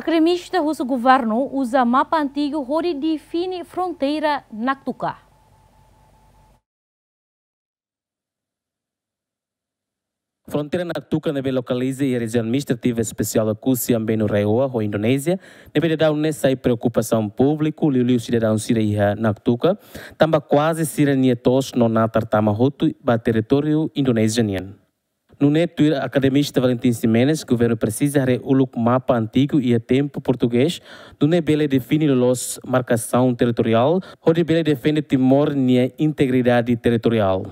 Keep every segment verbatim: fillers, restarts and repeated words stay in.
Akademista husu governu uza mapa antigu hodi define fronteira Naktuka. Fronteira Naktuka ne'ebé lokaliza iha Rejiaun Administrativa Espesiál Oekusi Ambenu Raihoa ho Indonézia, ne'ebé daudaun ne'e sai preokupasaun públiku, liuliu sidadaun sira iha Naktuka, tanba kuaze sira-nia to'os no natar tama hotu ba territóriu Indonézia nian. Nune'e tuir akademista Valentim Ximenes, governu presiza haree uluk mapa antigu iha tempu portugés, nune'e bele define loloos markasaun territoriál, hodi bele defende Timor nia integridade territoriál.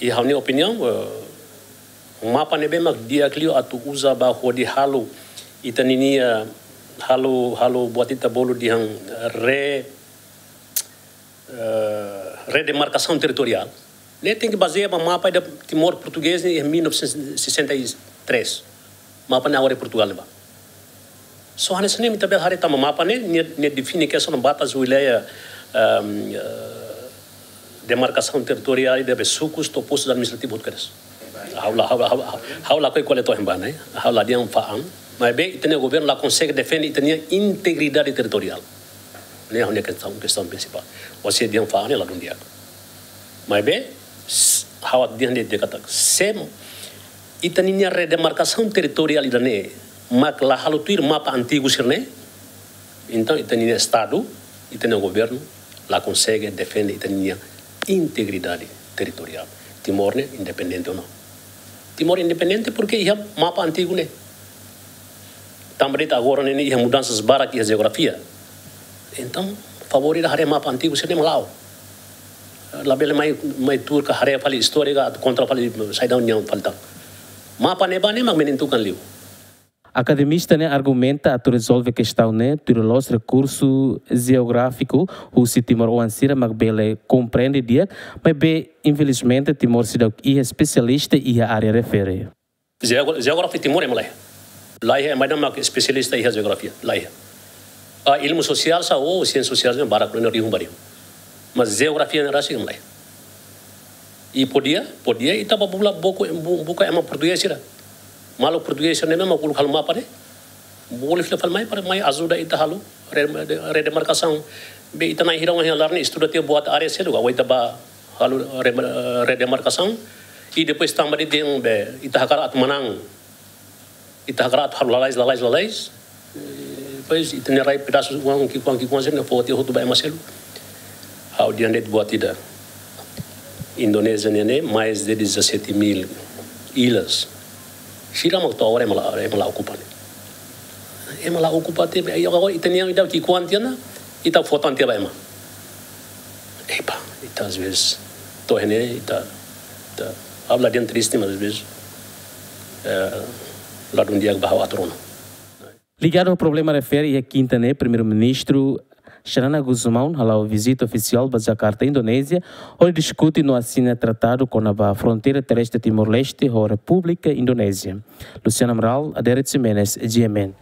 Iha ha'u-nia opiniaun, eh, mapa ne'ebé mak di'ak liu atu uza ba hodi halo ita ninia, halo, halo buat ita bolu dehan re-, eh, redemarkasaun territoriál. Ne'e tenke bazeia ba mapa ida Timor portugés ne'e iha mil novecentos e sessenta e três. Mapa ne'e agora iha Portugal ne'ebá. Só hanesan ne'e mak ita bele haree tanba mapa ne'e, ne'e, ne'e define kestaun batas wilayah, ehm, eh, demarkasaun territoriál ida be sukus to'o postus administrativus hotu kedas. Ha'u la, ha'u la, ha'u la, ha'u lakohi ko'alia to'o iha ne'ebá ne'e. Ha'u la dehan fa'an. Maibé ita-nia governu la konsege defende ita-nia integridade territoriál. Ne'e ha'u-nia kestaun, kestaun prinsipál. Ou seja, dehan fa'an ne'e ladún di'ak. Maibé, s-, ha'u dehan de'it katak, se ita ninia redemarkasaun territoriál ida-ne'e mak la halo tuir mapa antigu sira-ne'e, entaun ita ninia Estadu, ita ninia governu la konsege defende ita ninia integridade territoriál. Timor ne'e independente ou não? Timor independente porque iha mapa antigu ne'e. Tanba de'it agora ne'e iha mudansas barak iha jeografia. Entaun, favór ita haree mapa antigu sira-ne'e mak la'o. Labele mai, mai tuur ka haree fali istória ka atu kontra fali saida nia fali tan. Mapa ne'ebá ne'e mak menentukan liu. Akademista ne'e argumenta atu rezolve kestaun ne'e tuir loloos rekursu jeográfiku husi timoroan sira mak bele komprende di'ak, maibé infelizmente Timor seidauk iha espesialista iha área refere. Jeogra-, jeografia Timor ema laiha. Laiha ema ida mak espesialista iha jeografia, laiha. Ah, ilmu sosiál sá, ou siénsia sosiál sá, barak ne'e rihun ba rihun. Mas jeografia ne'e rasik ema laiha. I podia, podia ita bá bula buka, bu-, buka ema portugés sira. Maluk portugés sira ne'e mak uluk halo mapa ne'e. Bolu fila fali mai para mai ajuda ita halo re-, redemarkasaun. Be ita na'in hira ohin ha'u laran estuda tiha buat área seluk, agora ita bá halo re-, redemarkasaun. I depois tanba de'it dehan be ita hakarak atu manán. Ita hakarak atu halo lalais, lalais, lalais. Eh, depois ita-nia rai pedasu uang ki'ikoan, ki'ikoan sira-ne'e fó tiha hotu ba ema seluk. Ha'u dehan de'it buat ida. Indonézia ne'e, ne'e mais de dezassete mil ilhas. Sira mak to'o agora ema la, ema la okupa ne'e. Ema la okupa tiha, i agora ita-nia ida ki'ikoan tiha ona, ita fó tan tiha ba ema. Epa, ita às vezes, to'o iha ne'e, ita, ita, ha'u la dehan triste, mas às vezes, eh, ladún di'ak ba ha'u atu rona. Ligadu ho problema refere, iha kinta ne'e, Primeiru-Ministru Xanana Gusmão hala'o vizita ofisiál ba Jakarta, Indonézia, hodi diskute no asina tratadu kona-ba fronteira terrestre Timor-Leste ho Repúblika Indonézia. Luciano Amaral, Adérito Ximenes, G M N.